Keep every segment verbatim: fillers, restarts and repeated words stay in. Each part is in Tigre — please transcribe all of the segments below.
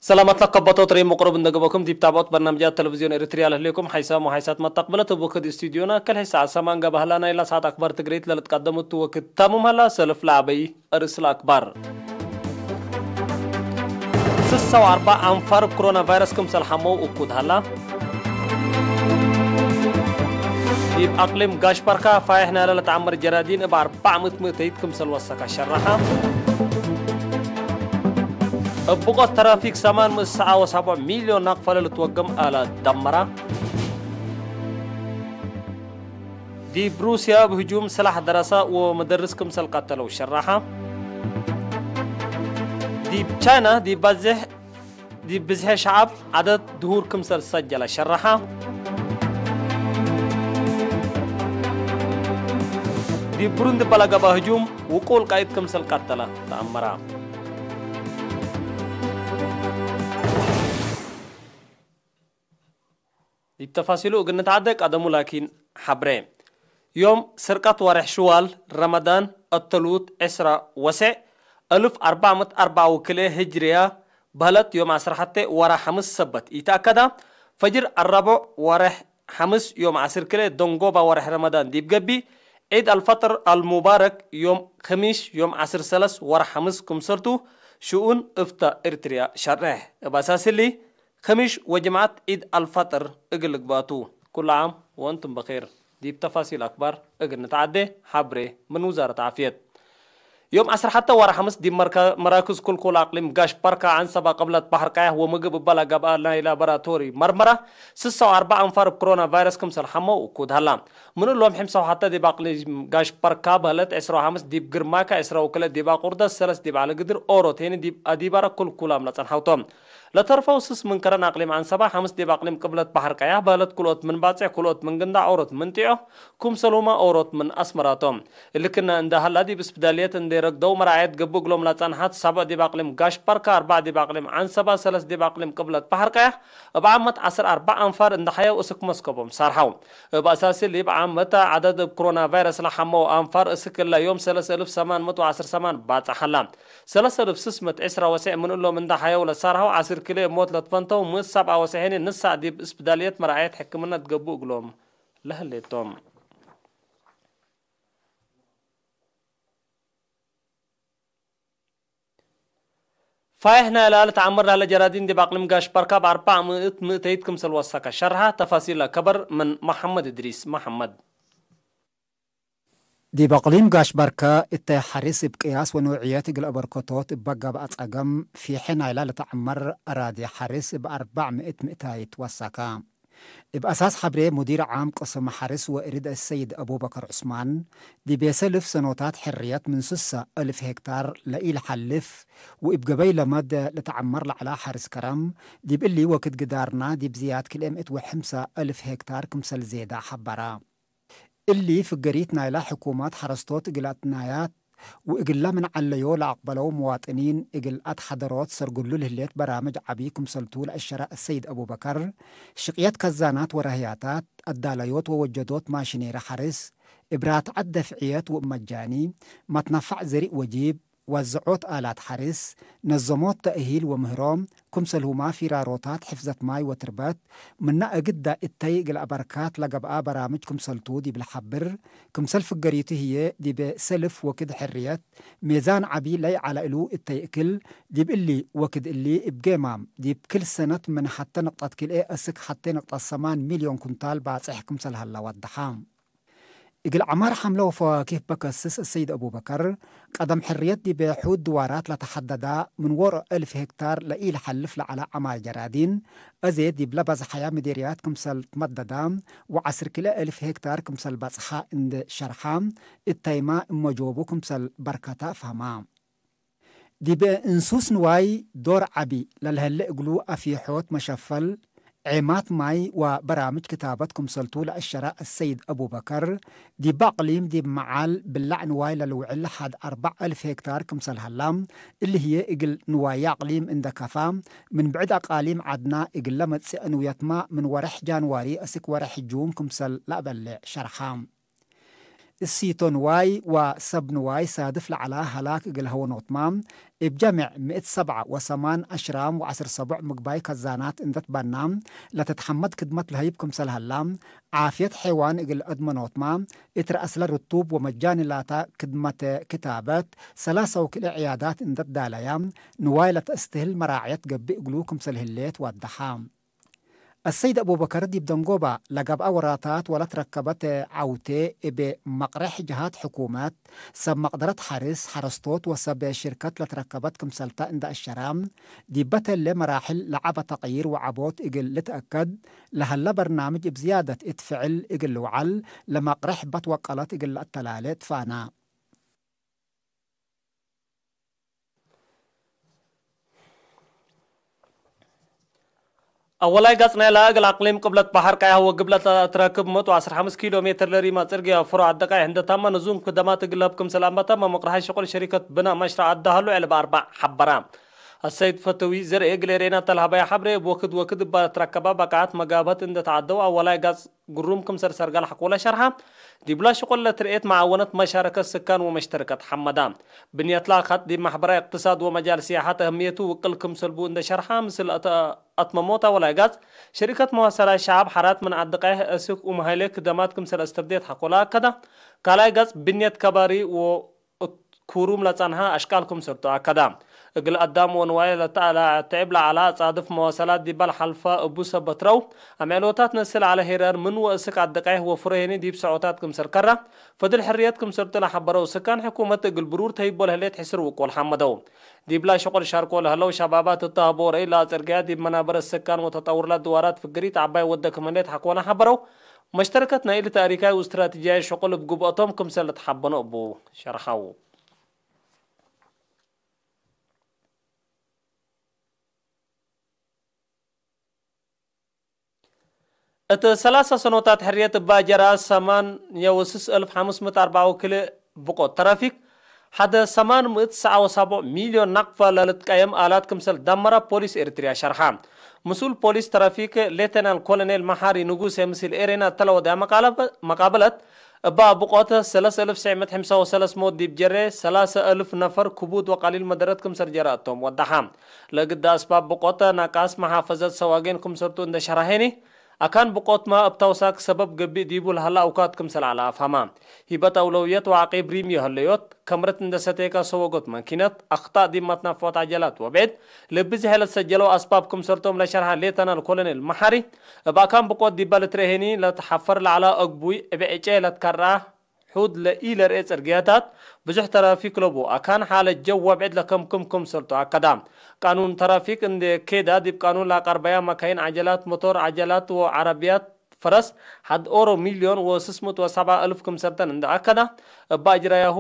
ሰላማት ለከበቶት ሬም መቅረብ እንደ ገበኩም ዲብ ታብዖት በርናምጃት ቴሌቪዝዮን ኤሪትርያ ለህሌኩም ሓይሳም ወሓይሳት መተቅብለት እብ ወክድ ስቱድዮና ከልሐ ሰዓት ሰማን ገባህላ ናይላ ሰዓት አክባር ትግሬት ለልትቀደሙት ወክድ ታሙም ሀላ ሰልፍ ለአበይ እርስ ለአክባር። ስሳ ወአርበዕ አንፋር እብ ኮሮና ቫይረስ ክምሰል ሐመው እኩድ ሀላ። ዲብ አቅሊም ጋሽ ባርካ ፋይሕ ናይለ ለተአመር ጀራዲን እብ አርበዕ ምእት ምእተይት ክምሰል ወሰከ ሸረሐ። እብ ብቆት ተራፊክ ሰማን ምእት ሰዓ ወሰብዕ ሚልዮን ናቅፈ ለልትወገም አለ ደመራ። ዲብ ሩስያ እብ ህጁም ስላሕ ደረሰ ወመደርስ ክምሰል ቀተለው ሸረሐ። ዲብ ቻይና ዲብ ባዜሕ ዲብ ብዝሐ ሸዐብ ዐደድ ድሁር ክምሰል ሰጀለ ሸረሐ። ዲብ ብሩንዲ እበ ለገብአ ህጁም ውቁል ቃይድ ክምሰል ቀተለ ተአመረ። ዲብ ተፋሲሉ እግል ንትዐዴ ቀደሙ ላኪን ሐብሬ። ዮም ስርቀት ወሬሕ ሽዋል ረመዳን እተሉት ዕስራ ወሰዕ እልፍ አርበዕ ምእት አርበዕ ወክልኤ ህጅርያ በህለት ዮም ዐስር ሐቴ ወረ ሐምስ ሰበት ኢተአከዳ። ፈጅር አራብዕ ወሬሕ ሐምስ ዮም ዐስር ክልኤ ደንጎባ ወሬሕ ረመዳን ዲብ ገብእ። ዒድ አልፈጥር አልሙባረክ ዮም ክሚሽ ዮም ዐስር ሰለስ ወረ ሐምስ ክምሰልቱ ሽኡን እፍታ ኤርትርያ ሸሬሕ። እብ አሳስ እሊ፣ ከሚሽ ወጅምዐት ዒድ አልፈጥር እግል ልግባቱ። ኩሉ ዓም ወእንቱም በኼር። ዲብ ተፋሲል አክባር እግል ንትዓዴ፣ ሐብሬ ምን ውዛረት ዓፍየት። ዮም ዐስር ሐተ ወረ ሐምስ ዲብ መርካ-፣ መራክዝ ኩልኩል አቅሊም ጋሽ በርካ ዐንሰባ ቅብለት በሐር ቀያሕ ወምግብ እበ ለገብአ ናይ ላቦራቶሪ መርመራ፣ ስሳ ወአርበዕ አንፋር እብ ኮሮና ቫይረስ ክምሰል ሐመው እኩድ ሀላ። ምን እሎም ሕምሳ ወሐተ ዲብ አቅሊም ጋሽ በርካ በህለት፣ ዕስራ ወሐምስ ዲብ ግርማካ፣ ዕስራ ወክልኤ ዲብ አቁርደት፣ ሰለስ ዲብ ዐሊ ግድር፣ ኦሮት ሄኒ ዲብ አዲባረ ኩልኩላም ለጸንሐው ቶም። ለተርፈው ስስ ምን ከረን አቅሊም ዐንሰባ፣ ሐምስ ዲብ አቅሊም ቅብለት በሐር ቀያሕ በህለት፣ ክልኦት ምን ባጽዕ፣ ክልኦት ምን ግንዳዕ፣ ኦሮት ምን ጢዖ፣ ክምሰልሁመ ኦሮት ምን አስመራ ቶም። እሊ ክነ እንደ ሀላ፣ ዲብ እስፕዳልየት እንዴ ረግደው መራዐየት ገብእ እግሎም ለጸንሐት፣ ሰብዕ ዲብ አቅሊም ጋሽ በርካ፣ አርበዕ ዲብ አቅሊም ዐንሰባ፣ ሰለስ ዲብ አቅሊም ቅብለት በሐር ቀያሕ፣ እብ ዓመት ዐስር አርበዕ አንፋር እንደ ሐየው እስክ መስከቦም ሳርሐው። እብ አሳሲ ሊብ ዓመት ዐደድ እብ ኮሮና ቫይረስ ለሐመው አንፋር እስክ እለ ዮም ሰለስ እልፍ ሰማን ምእት ወዐስር ሰማን ባጽሕ ሀላ። ሰለስ እልፍ ስስ ምእት ዕስራ ወሰዕ ምን እሎም እንደ ሐየው ለሳርሐው፣ ዐስር ክልኤ ሞት ለትፈንተው፣ ምእት ሰብዓ ወሰዕ ሄኒ ንሳዕ ዲብ እስፕዳልየት መርዓየት ሕክምነት ገብኡ እግሎም ለህሌቶም። ፋይሕ ናይላ ልትዓመር ለሀለ ጀራዲን ዲብ አቅሊም ጋሽ በርካ እብ አርበዕ ምእት ምእተይት ክምሰል ወሰከ ሸርሐ። ተፋሲል ለከበር ምን መሐመድ እድሪስ መሐመድ። ዲብ አቅሊም ጋሽ በርካ እተ ሐርስ እብ ቅያስ ወኖዕየት እግል አበርከቶት እበ ገብአ ጸገም ፊሐ ናይላ ልትዓመር አራዲ ሐርስ እብ አርበዕ ምእት ምእታይት ወሰከ። እብ አሳስ ሐብሬ ሙዲር ዓም ቅስም ሐርስ ወእርድ አሰይድ አቡበከር ዑስማን፣ ዲቤ ሰልፍ ሰኖታት ሕርየት ምን ስሳ እልፍ ሄክታር ለኢለሐልፍ ወእብ ገበይ ለመድ ልትዓመር ለዐላ ሐርስ ከረም፣ ዲብ እሊ ወክድ ግዳርና ዲብ ዝያድ ክልኤ ምእት ወሐምሳ እልፍ ሄክታር ክምሰል ዜዳ ሐበረ። እሊ ፍገሪት ናይላ ሕኩመት ሐረስቶት እግል አትናያት ወእግለ ምን ዐለዮ ለአቅበለው መዋጥኒን እግል አትሐደሮት ሰርግሉ ለህሌት በራምጅ ዐቢ ክምሰልቱ ለአሸረ አሰይድ አቡበከር፣ ሽቅየት ከዛናት ወረህያታት፣ አዳለዮት ወወጀዶት ማሽኔሪ ሐርስ፣ እብ ራትዐት ደፍዕየት ወእብ መጃኒ፣ መትነፋዕ ዘሪእ ወጂብ፣ ወዘዖት አላት ሐርስ፣ ነዘሞት ተእሂል ወምህሮ፣ ክምሰልሁማ ፊራሮታት ሕፍዘት ማይ ወትርበት፣ ምነ እግዳ እተይ እግል አበርካት ለገብአ በራምጅ ክምሰልቱ ዲብ ለሐብር፣ ክምሰል ፍገሪቱ ህዬ ዲበ ሰልፍ ወክድ ሕርየት ሜዛን ዐቢ ለይዐለ እሉ እተይ እክል፣ ዲብ እሊ ወክድ እሊ እብ ጌማም ዲብ ክል ሰነት ምን ሐቴ ንቅጠት ክልኤ እስክ ሐቴ ንቅጠት ሰማን ሚልዮን ኩንታል ባጽሕ ክምሰል ሀላ ወደሐ። እግል ዐማር ሐምለ ወፈዋኪህ በከስስ አሰይድ አቡበከር፣ ቀደም ሕርየት ዲብ ሑድ ድዋራት ለተሐደዳ ምን ዎሮ እልፍ ሄክታር ለኢለሐልፍ ለዐለ ዐማር ጀራዲን፣ አዜ ዲብለ በዝሐያ ምዴርያት ክምሰል ትመደዳ፣ ወዐስር ክልኤ እልፍ ሄክታር ክምሰል በጽሐ እንዴ ሸርሐ፣ እተይማ እመ ጆቡ ክምሰል በርከተ አፍሀማ። ዲብ እንሱስ ንዋይ ዶር ዐቢ ለልሀሌ እግሉ አፊሖት መሸፈል፣ ዔማት ማይ ወበራምጅ ክታበት ክምሰልቱ ለአሸረ አሰይድ አቡበከር፣ ዲብ አቅሊም ዲብ መዓል ብላዕ ንዋይ ለልውዕል ሐድ አርበዕ እልፍ ሄክታር ክምሰል ሀላ፣ እሊ ህዬ እግል ንዋየ አቅሊም እንደ ከፋ፣ ምን ብዕድ አቃሊም ዐድና እግል ለመጽእ ንውየትመ ምን ወሬሕ ጃንዋሪ አስክ ወሬሕ ጁን ክምሰል ለአበልዕ ሸርሐ። እሲቶ ንዋይ ወሰብ ንዋይ ሳድፍ ለዐለ ሀላክ እግል ሀወኖትመ፣ እብ ጀምዕ ምእት ሰብዓ ወሰማን አሽራም ወዐስር ሰቦዕ ምግባይ ከዛናት እንደ ትበና፣ ለትትሐመድ ክድመት ለሀይብ ክምሰል ሀላ፣ ዓፍየት ሐይዋን እግል አድመኖትመ፣ እት ረአስለ ርቱብ ወመጃኒ ላተ ክድመት ክታበት፣ ሰላሰ ወክልኤ ዕያዳት እንደ ትዳለየ፣ ንዋይ ለተአስትህል መራዕየት ገብእ እግሉ ክምሰል ህሌት ወደሐ። አሰይድ አቡበከር ዲብ ደንጎባ ለገብአ ወራታት ወለትረከበት ዐውቴ እብ መቅሬሕ ጀሃት ሕኩመት፣ ሰብ መቅደረት ሐርስ፣ ሐረስቶት ወሰብ ሽርከት ለትረከበት ክምሰልተ እንደ አሸረ፣ ዲበ ተሌ መራሕል ለዐበ ተቅይር ወዐቦት እግል ልትአከድ ለሀለ በርናምጅ እብ ዝያደት እት ፍዕል እግል ልውዐል፣ ለመቅሬሕ በት ወቀለት እግል ለአተላሌ ትፋና። አወላይ ገጽ ናይለ እግል አቅሊም ቅብለት በሐር ቀያህ ወግብለት ለትረክብ ምእት ወዐስር ሐምስ ኪሎ ሜትር ለሪማ ጽርግያ ፍሮ አደቃይ እንደ ታመ ንዙም ክደማት እግል ለህብ ክምሰል አንበተ መምቅርሐይ ሽቁል ሸሪከት ብናእ መሽረዕ አዳህሉ ዕልብ አርበዕ ሐበራ። አሰይድ ፈተዊ ዘርኤ እግል ኤሬና ተልሀበያ ሐብሬ እብ ወክድ ወክድ እባ ለትረከባ በቃዓት መጋብሀት እንደ ተዐደው አወላይ ገጽ ግሩም ክምሰል ሰርጋል ሐቆለ ሸርሐ። ዲብላ ሽቁል ለትርኤት መዓወነት መሻረከት ስካን ወመሽተርከት ሐመዳ። ብንየትላ ከጥ ዲብ ማሕበራይ እቅትሳድ ወመጃል ሲያሐት አህምየቱ ውቅል ክምሰል ቡ እንደ ሸርሐ ምስል አተ-፣ አትመሞት አወላይ ጋዝ ሸሪከት መዋሰላት ሸዓብ ሐራት ምን አድቃይህ እስክ ኡምሀይሌ ክደማት ክምሰል አስተብዴት ሐቆለ አከዳ። ካልኣይ ጋዝ ብንየት ከባሪ ወ እት ኩሩም ለጸንሐ አሽቃል ክምሰልቱ አከዳ። እግል አዳም ወንዋይ ለተአላ-፣ ተዕብ ለዐላ አጻድፍ መዋሰላት ዲበ ለሐልፈ እቡ ሰበት ረው፣ አምዕሎታት ነስል ዐለ ሄራር ምን ወእስክ አደቃይህ ወፍሬ ህኒ ዲብ ሰዖታት ክምሰል ከራ፣ ፈድል ሕርየት ክምሰልቱ ለሐበረው ስካን ሕኩመት እግል ብሩር ተሂቦ ለህሌት ሕስር ውቁል ሐመደው። ዲብላ ሽቁል ሻርኮ ለህለው ሸባባት እተ ሀቦ ረኢ ለአጽርግያ ዲብ መናበረት ስካን ወተጠውርላት ድዋራት ፍግሪት ዐባይ ወደ ክም ህሌት ሐቆነ ሐበረው። መሽተርከት ናይ እሊ ታሪካይ ወእስትራቲጂያይ ሽቁል እብ ግብአቶም ክምሰል ልትሐበኖ እቡ ሸርሐው። እት ሰላሰ ሰኖታት ሕርየት እባ ጀራ ሰማንየ ወስስ እልፍ ሐምስ ምእት አርበዓ ወክልኤ ብቆት ተራፊክ፣ ሐደ ሰማን ምእት ሰዓ ወሳቦዕ ሚልዮን ናቅፈ ለልትቀየም አላት ክምሰል ዳመራ ፖሊስ ኤሪትርያ ሸርሐ። ምስኡል ፖሊስ ተራፊክ ሌተናል ኮሎኔል መሓሪ ንጉሴ ምስል ኤሬና እተ ለወደያ መቃለበ-፣ መቃበለት፣ እባ ብቆት ሰለስ እልፍ ትስዕ ምእት ሐምሳ ወሰለስ ሞት ዲብ ጀሬ፣ ሰላሰ እልፍ ነፈር ክቡድ ወቀሊል መደረት ክምሰል ጀረ እቶም ወደሐ። ለግዳ አስባብ ብቆት ናቃስ መሓፈዘት ሰዋጌን ክምሰልቱ እንደ ሸርሐኒ፣ አካን ብቆትመ እብ ተውሳክ ሰበብ ገብእ ዲቡ ለሀለ አውካት ክምሰል ዐለ አፍሀመ። ሂበት አውለውየት ወዐቂብ ሪምዮ ህለዮት፣ ከምረት እንደ ሰቴከ ሰወጎት መኪነት፣ አክጣእ ዲብ መትነፈዖት ዐጀላት ወብዕድ ለብዝሔ ለትሰጀለው አስባብ ክምሰልቶም ለሸርሐ ሌተናል ኮሎኔል መሓሪ፣ እብ አካን ብቆት ዲበ ልትርኤ ህኒ ለትሐፈር ለዐለ አግቡይ እብ ዕጨ ለትከርዐ ሑድ ለኢለርኤ ጽርግያታት ብዙሕ ተራፊክ ለቡ አካን ሓለት ጀው ወብዕድ ለከምክም ክምሰልቱ አከዳ። ቃኑን ተራፊክ እንዴ ኬዳ ዲብ ቃኑን ለአቀርበያ መካይን ዐጀላት፣ ሞቶር ዐጀላት ወዐረብያት ፈረስ ሐድ ኦሮ ሚልዮን ወስስ ምእት ወሰብዓ እልፍ ክምሰልተን እንደ አከዳ፣ እበ አጅራያሁ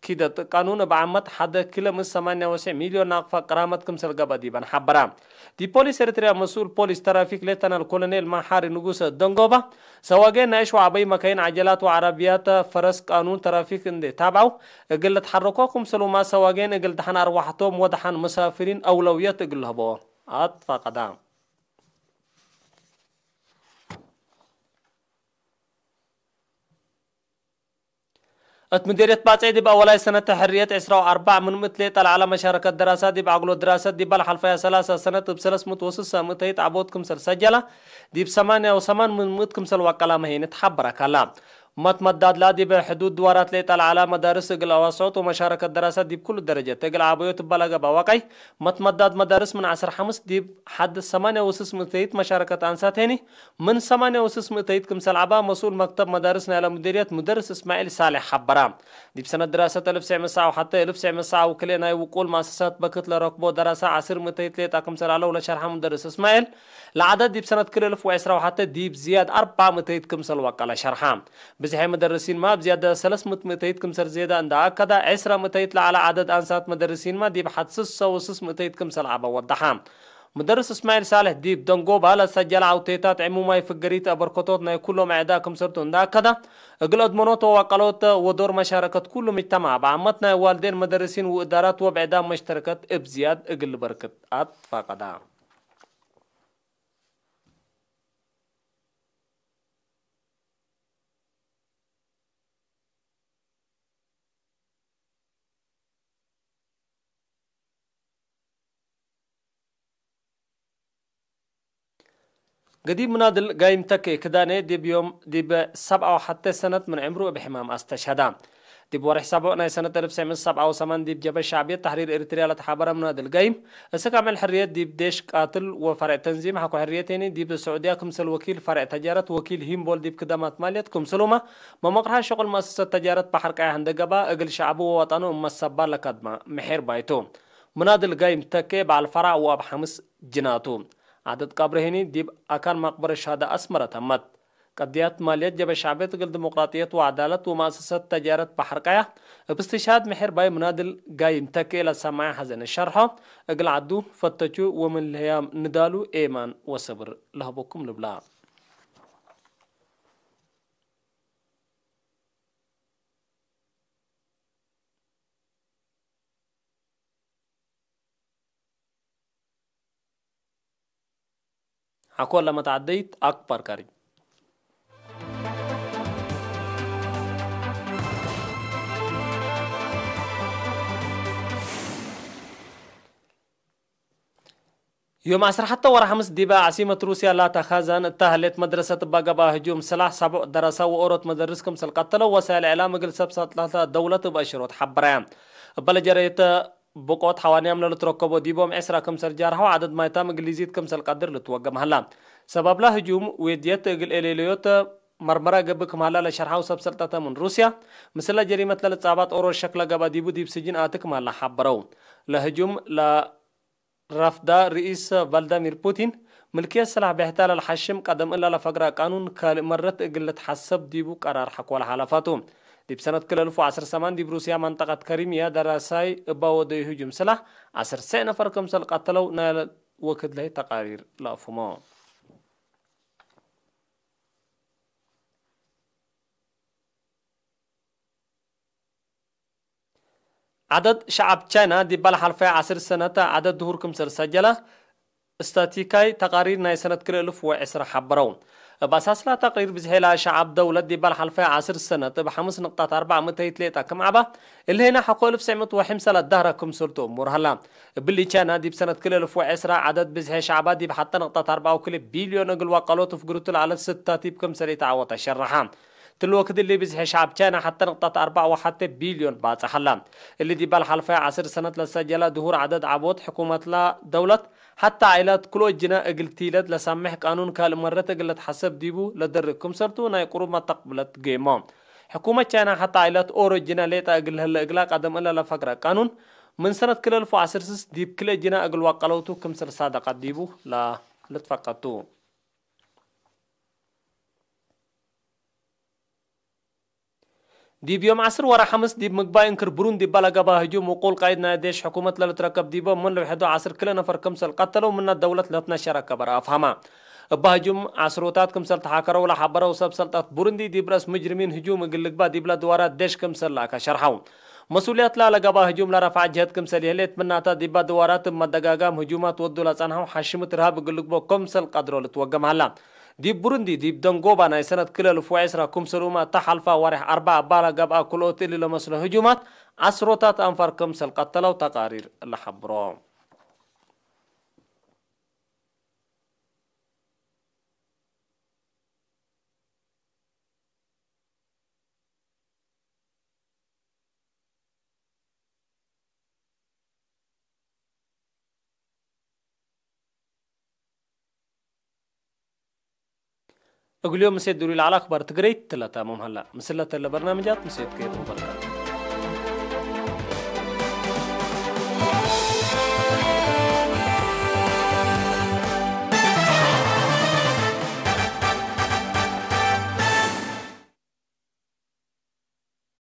ኪደት ቃኑን እብ ዓመት ሐደ ኪሎ ምእት ሰማንያ ወትስዕ ሚልዮን ናቅፋ ቅራመት ክምሰል ገብአ ዲበን ሐበራ። ዲብ ፖሊስ ኤሪትርያ መስኡል ፖሊስ ተራፊክ ሌተናል ኮሎኔል መሓሪ ንጉሰ ደንጎባ፣ ሰዋጌን ናይ እሽ ወዐበይ መካይን ዐጀላት ወዐረብያት ፈረስ ቃኑን ተራፊክ እንዴ ታብዐው እግል ልትሐረኮ ክምሰሉመ ሰዋጌን እግል ደሐን አርወሐቶም ወደሐን መሳፍሪን አውለውየት እግል ልህቦ አትፋቀዳ። እት ምዴርየት ባጽዕ ዲብ አወላይ ሰነት ሕርየት ዕስራ ወአርበዕ ምን ምእት ሌጠ ለዐለ መሻረከት ደራሳት ዲብ አግሎ ድራሰት ዲበ ለሐልፈያ ሰላሰ ሰነት እብ ሰለስ ምእት ወስሳ ምእተይት ዐቦት ክምሰል ሰጀለ፣ ዲብ ሰማንያ ወሰማን ምን ምእት ክምሰል ወቀላመ ሄን ተሐበረ ከላ። መትመዳድላ ዲብ ሕዱድ ድዋራት ሌጠ ለዐለ መዳርስ እግል አዋስዖት ወመሻረከት ደራሳት ዲብ ኩሉ ደረጀት እግል ዐበዮት እበ ለገብአ ወቀይ፣ መትመዳድ መዳርስ ምን ዐስር ሐምስ ዲብ ሐድ ሰማንያ ወስስ ምእተይት መሻረከት አንሳት ሄኒ፣ ምን ሰማንያ ወስስ ምእተይት ክምሰል ዐባ መስኡል መክተብ መዳርስ ናይለ ሙዲርየት ሙደርስ እስማዒል ሳሌሕ ሐበረ። ዲብ ሰነት ድራሰት እልፍ ትስዕ ምእት ሰዓ ወሐተ እልፍ ትስዕ ምእት ሰዓ ወክልኤ ናይ ውቁል መአሰሳት በክት ለረክቦ ደራሰ ዐስር ምእተይት ሌጣ ክምሰል ዐለው ለሸርሐ ሙደርስ እስማዒል፣ ለዐደድ ዲብ ሰነት ክል እልፍ ወዕስራ ወሐተ ዲብ ዝያድ አርበዕ ምእተይት ክምሰል ወቀለ ሸርሐ። ብዝሐ መደርሲንመ እብ ዝያድ ሰለስ ምእት ምእተይት ክምሰል ዜደ እንደ አከደ፣ ዕስረ ምእተይት ለዐለ ዐደድ አንሳት መደርሲንመ ዲብ ሐድ ስሰ ወስስ ምእተይት ክምሰል ዐበ ወደሐ። ሙደርስ እስማዒል ሳልሕ ዲብ ደንጎባ ለሰጀለ ዐውቴታት ዕሙማይ ፍገሪት አበርከቶት ናይ ኩሎም አዕዳ ክምሰልቱ እንደ አከደ፣ እግል አድመኖት ወዋቀሎት ወዶር መሻረከት ኩሉ ምጅተማዕ በዓመት ናይ ዋልዴን መደርሲን ወእዳራት ወብዕዳም መሽተርከት እብ ዝያድ እግል ልበርክት አትፋቀዳ። ገዲም ምናድል ጋይም ተኬ ክዳኔ ዲብ ዮም ዲብ ሰብዓ ወሐቴ ሰነት ምን ዕምሩ እብ ሕማም አስተሽሀዳ። ዲብ ወርሕ ሰቡዕ ናይ ሰነት አልፍ ትሰዕ ምእት ሰብዓ ወሰማን ዲብ ጀብሀት ሸዕብየት ተሕሪር ኤሪትርያ ለተሓበረ ምናድል ጋይም፣ እስክ አምዕል ሕርየት ዲብ ዴሽ ቃትል ወፈርዕ ተንዚም ሐቆ ሕርየት ሄኒ ዲብ ስዑድያ ክምሰል ወኪል ፈርዕ ተጃረት ወኪል ሂምቦል ዲብ ክደማት ማልየት ክምሰሉመ መመቅርሐ ሸቁል መአሰሰት ተጃረት በሐር ቀያሕ እንደ ገብአ እግል ሸዕቡ ወወጠኑ እመ ሰባ ለከድመ ምሒር ባይቱ። ምናድል ጋይም ተኬ በዐል ፈራዕ ወአብ ሐምስ ጅናቱ። ዐደድ ቀብሪ ህኒ ዲብ አካን መቅበረ ሸሃዳ አስመረ ተመት። ቀድያት ማልየት ጀበ ሸዕብየት እግል ዲሞቅራጥየት ወዐዳለት ወመአሰሰት ተጃረት በሐር ቀያሕ እብ እስትሽሃድ ምሒር ባይ ምናድል ጋይም ተኬ ለሰማዐ ሐዘነ ሸርሖ፣ እግል ዐዱ ፈተቹ ወምን ለህያም ንዳሉ ኤማን ወሰብር ለህበኩም ልብላ። ሐቆ ለመትዐደይት አክባር ካሪ። ዮም ዐስር ሐተ ወርሐ ሐምስ ዲበ ዐሲመት ሩስያ ላተ ካዛን እተ ሀሌት መድረሰት እባ ገብአ ህጁም ስላሕ ሰቡዕ ደረሰ ወኦሮት መደርስ ክምሰል ቀተለው ወሳይል እዕላም እግል ሰብ ሰልጠተ ደውለት እብ አሽሮት ሐበረ። እበ ለጀረየተ ብቆት ሐዋንያም ለልትረከቦ ዲቦም ዕስራ ክምሰል ጃርሐው ዐደድ ማይታም እግል ሊዚድ ክምሰል ቀድር ልትወገም ሀላ። ሰባብላ ህጁም ዌድየት እግል ኤሌሌዮት መርመራ ገብእ ክም ሀላ ለሸርሐው ሰብ ሰልጠተ ምን ሩስያ፣ ምስለ ጀሪመት ለልጻባት ኦሮት ሸክ ለገብአ ዲቡ ዲብ ስጅን አቲ ክም ሀላ ሐበረው። ለህጁም ለረፍዳ ርኢስ ቫልዳሚር ፑቲን፣ ምልክየት ስላሕ ብሕታ ለልሐሽም ቀደም እለ ለፈግረ ቃኑን ካልእ መረት እግል ልትሐሰብ ዲቡ ቀራር ሐቆ ለሓለፋቱ። ዲብ ሰነት ክል እልፍ ወዐስር ሰማን ዲብ ሩስያ መንጠቀት ከሪምያ ደራሳይ እባ ወደዩ ህጁም ስላሕ ዐስር ሰዕ ነፈር ክምሰል ቀተለው ናይ ወክድ ለህይ ተቃሪር ለአፍሁሞ። ዐደድ ሸዐብ ቻይና ዲብ ለሐልፈየ ዐስር ሰነት ዐደድ ድሁር ክምሰል ሰጀለ፣ ስታቲካይ ተቃሪር ናይ ሰነት ክልኤ እልፍ ወዕስራ ሐበረው። እብ አሳስላ ተቅሪር ብዝሔ ለሸዐብ ደውለት ዲብ ለሐልፈየ ዐስር ሰነት እብ ሐምስ ንቅጣት አርበዕ ምእተይት ሌጠ ክም ዐባ፣ እሊ ህይነ ሐቆ እልፍ ትሰዕ ምእት ወሐምሳ ለዳህረ ክምሰልቱ እሙር ሀላ። እብሊ ቻይና ዲብ ሰነት ክልኤ እልፍ ወዕስራ ዐደድ ብዝሔ ሸዐባ ዲብ ሐተ ንቅጣት አርበዕ ወክልኤ ቢልዮን እግል ወቀሎት ፍግርቱ ለዐለት ስታቲብ ክምሰል ኢተዐወተ ሸረሐ። ትል ወክድ እሊ ብዝሒ ሸዐብ ቻይና ሐተ ንቅጠት አርበዕ ወሐቴ ቢልዮን ባጽሕ ሀላ። እሊ ዲብ ለሐልፈየ ዐስር ሰነት ለሰጀለ ድሁር ዐደድ ዐቦት ሕኩመትላ ደውለት ሐተ ዓኢላት ክልኦት ጅነ እግል ቲለት ለሳምሕ ቃኑን ካልእ መረት እግል ልትሐሰብ ዲቡ ለደርግ ክምሰልቱ ናይ ቅሩብ መተቅብለት ገይሞ። ሕኩመት ቻይና ሐተ ዓኢላት ኦሮ ጅነ ሌጠ እግል ለህለ እግላ ቀደም እለ ለፈግረ ቃኑን ምን ሰነት ክልኤ እልፍ ወዐስር ስስ ዲብ ክልኤ ጅነ እግል ወቀለውቱ ክምሰል ሳደቀት ዲቡ ለልትፈቀድ ቱ። ዲብ ዮም ዐስር ወረ ሐምስ ዲብ ምግባይ እንክር ብሩን ዲበ ለገብአ ህጁም ውቁል ቃይድ ናይ ዴሽ ሕኩመት ለልትረከብ ዲቦም ምን ልውሐዱ ዐስር ክለ ነፈር ክምሰል ቀተለው ምነ ደውለት ለትነሸረ ከበር አፍሀመ። እበ ህጁም ዐስሮታት ክምሰል ተሓከረው ለሐበረው ሰብ ሰልጠት ቡሩንዲ ዲብ ረአስ ሙጅሪሚን ህጁም እግል ልግባእ ዲብለ ድዋራት ዴሽ ክምሰል ለአከ ሸርሐው። መስኡልየትላ ለገብአ ህጁም ለረፍዐ ጀህት ክምሰል ይህሌት ምናተ ዲበ ድዋራት እብ መደጋጋም ህጁማት ወዱ ለጸንሐው ሐሽምት እርሃብ እግል ልግቦ ክምሰል ቀድሮ ልትወገም ሀላ። ዲብ ቡሩንዲ፣ ዲብ ደንጎባ ናይ ሰነት ክለ እልፍ ወዕስራ ክምሰልሁመ እተ ሐልፋ ወሬሕ አርበዕ እባ ለገብአ ክልኦት እሊ ለመስሎ ህጁማት ዐስሮታት አንፋር ክምሰል ቀተለው ተቃሪር ለሐብሮ። እግልዮም ምሴት ድሩይ ለዐለ አክባር ትግረይት ትለታመም ሀላ። ምስለተ ለበርናምጃት ምሴት ከይር ወበርካቱ።